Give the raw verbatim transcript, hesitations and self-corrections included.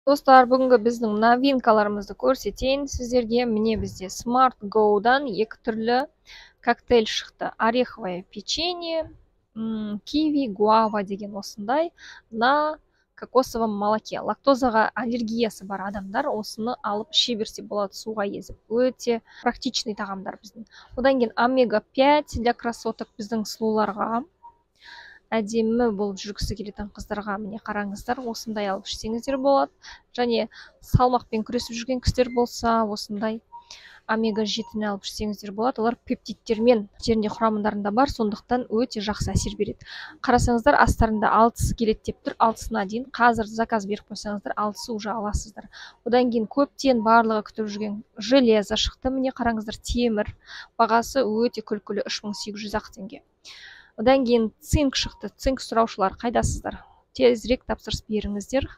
Достар, бүгінгі біздің новинкаларымызды көрсетейін сіздерге. Міне бізде Smart Go-дан екі түрлі коктейль шықты. Ореховое печенье, киви, гуава деген осындай на кокосовом молоке. Лактозаға аллергиясы бар адамдар осыны алып іше берсе болады, суға езіп. Өте практичный тағамдар біздің. Одан кейін омега пять для красоток біздің сұлуларға. Әдемі болып жүргісі келетін қыздарға міне қараңыздар, осындай алып ішсеңіздер болады. Және салмақпен күресіп жүрген кісілер болса, осындай омега жетіні алып ішсеңіздер болады. Олар пептидтермен жерінде құрамындарында бар, сондықтан өте жақсы әсер береді. Қарасаңыздар, астарында алтысы келеді деп тұр, алтысына дейін. Қазір заказ беріп қойсаңыздар, алтысы уже аласыздар. Одан кейін көптен барлығы күтіп жүрген железо шықты. Міне қараңыздар, темір. Бағасы өте күлкілі, үш мың сегіз жүз ақ теңге. Одан кейін цинк шықты. Цинк сұраушылар қайдасыздар? Тезірек тапсырыс беріңіздер.